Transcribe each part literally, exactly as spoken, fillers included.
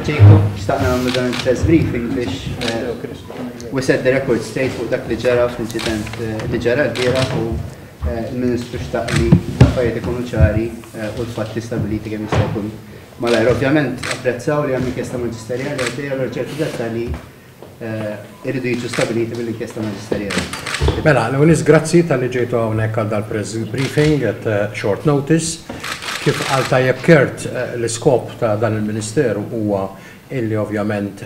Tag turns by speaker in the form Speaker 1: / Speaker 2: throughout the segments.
Speaker 1: Jacob. Xtaqna nagħmlu dan il-press briefing biex we set the record straight fuq dak li ġara fl-inċident li ġara l-bieraħ u il-Ministru xtaq li l-affarijiet ikunu ċari u l-fatti stabiliti kemm jista' jkun malajr. Ovvjament apprezzaw li hemm inkjesta maġisterjali għaddejja, allura ċertu dettalji irridu jiġu stabiliti mill-inkjesta maġisterjali.
Speaker 2: Mela, l-ewwel grazzi talli ġejtu hawnhekk għal dal-press briefing at short notice. Kif qal tajjeb Kurt, l-iskop ta' dan il-Ministeru huwa illi ovvjament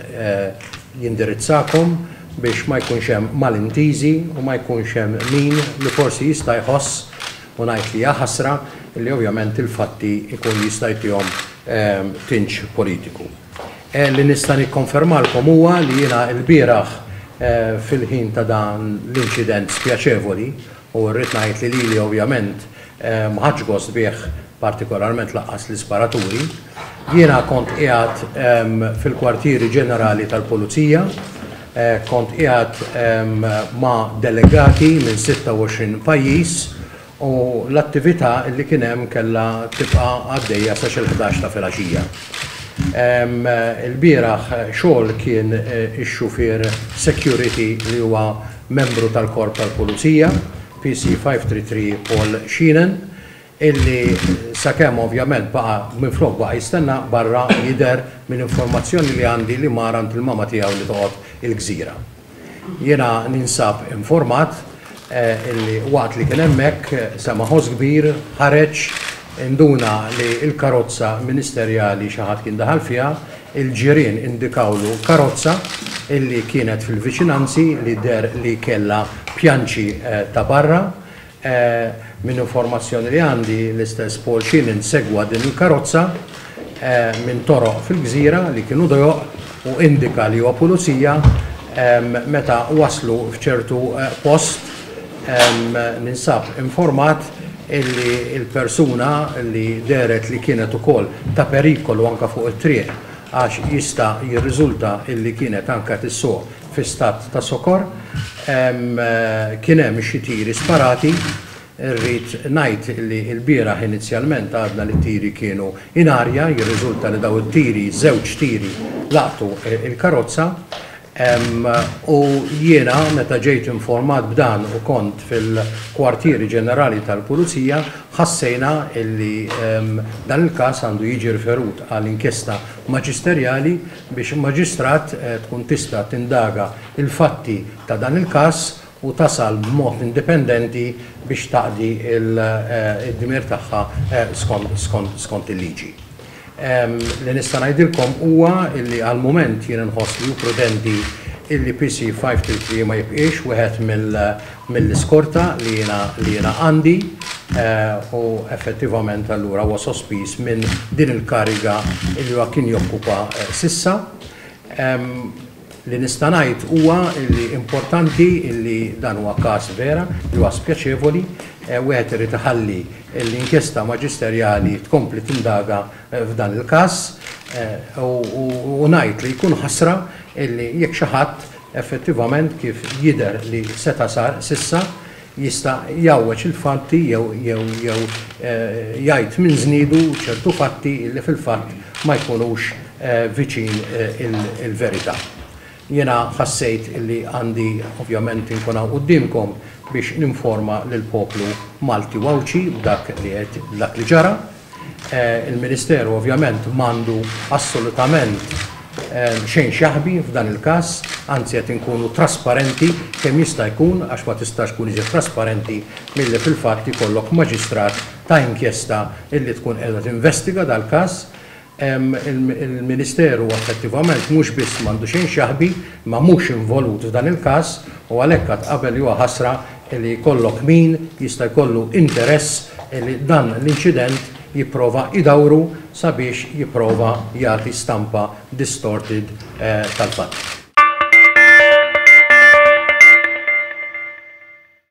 Speaker 2: jindirizzakom biex ma jkunx hemm malintiżi u ma jkunx hemm min li forsi jista' jħoss, u ngħid li hija ħasra, illi ovvjament il-fatti ikun jista' jtihom tinġ politiku. Li nista' nikkonfermalkom huwa li jiena l-bieraħ fil-ħin ta' dan l-inċident spjaċevoli, u rrid ngħid li lili ovvjament ma ħadx gost bih, partikolarment lanqas l-isparaturi, jiena kont qiegħed fil-kwartieri ġenerali tal-Pulizija, kont qiegħed ma' delegati minn sitta u għoxrin pajjiż u l-attività li kien hemm kellha tibqa' għaddejja sa xi ħdax ta' filgħaxija. Il-bieraħ xogħol kien ix-xufier security li huwa membru tal-korp tal-Pulizija, P C five three three Paul Sheenan, illi sakemm ovvjament baqa' minflok baqa' jistenna barra, jidher minn informazzjoni li għandi li mar għand il-mama tiegħu li toqgħod il-Gżira. Jiena ninsab informat illi waqt li kien hemmhekk sema' ħoss kbir, ħareġ, induna li l-karozza ministerjali xi ħadd kien daħal fiha. Il-ġirien indikawlu karozza illi kienet fil-viċinanzi li deher li kellha pjanċi ta' barra. Minn informazzjoni li għandi, l-istess Paul Sheenan segwa din il-karozza minn toroq fil-Gżira li kienu dojoq u indika li huwa pulizija. Meta waslu f'ċertu post, ninsab informat illi il-persuna li dehret li kienet ukoll ta' perikolu anka fuq it-triq, għax jista' jirriżulta illi kienet anka tissuq fi stat ta' sokor, kien hemm xi tiri sparati. Irrid ngħid li l-bieraħ inizjalment għadna li tiri kienu in arja, jirriżulta li daw it-tiri, żewġ tiri, laqtu il-karozza. U jiena meta ġejt informat b'dan u kont fil-kwartieri ġenerali tal-Pulizija, ħassejna illi dan il-każ għandu jiġi riferut għal inkjesta maġisterjali biex maġistrat tkun tista' tindaga il-fatti ta' dan il-każ u tasal b'mod indipendenti biex taqdi il-dmir tagħha skont il-liġi. Li nista' ngħidilkom huwa illi għal mument jien nħoss li hu prudenti illi P C five three three ma jibqiex wieħed mill-iskorta li jiena li jiena għandi u effettivament allura huwa sospiż minn din il-kariga illi huwa kien jokkupa s'issa. Li nista' ngħid huwa illi importanti illi dan huwa każ vera li huwa spjaċevoli, wieħed irid iħalli l-inkjesta maġisterjali tkompli tindaga f'dan il-każ u ngħid li jkun ħasra illi jekk xi ħadd effettivament, kif jidher li seta' sar s'issa, jista' jgħawweġ il-fatti jew jew jew jgħid minn żniedu ċertu fatti li fil-fatt ma jkunux viċin il-verità. Jiena ħassejt illi għandi ovvjament inkun hawn quddiemkom biex ninforma lill-poplu Malti u Għawdxi b'dak li qed dak li ġara. Il-Ministeru ovvjament m'għandu assolutament xejn x'jaħbi f'dan il-każ, anzi qed inkunu trasparenti kemm jista' jkun, għax ma tistax tkun iżjed trasparenti milli fil-fatt ikollok maġistrat ta' inkjesta illi tkun qiegħda tinvestiga dal-każ. Il-Ministeru effettivament mhux biss m'għandu xejn x'jaħbi, ma mhux involut f'dan il-każ u għalhekk għad qabel huwa ħasra li jkollok min jista' jkollu interess li dan l-inċident jipprova idawru sabiex jipprova jagħti stampa distorted tal-fatt.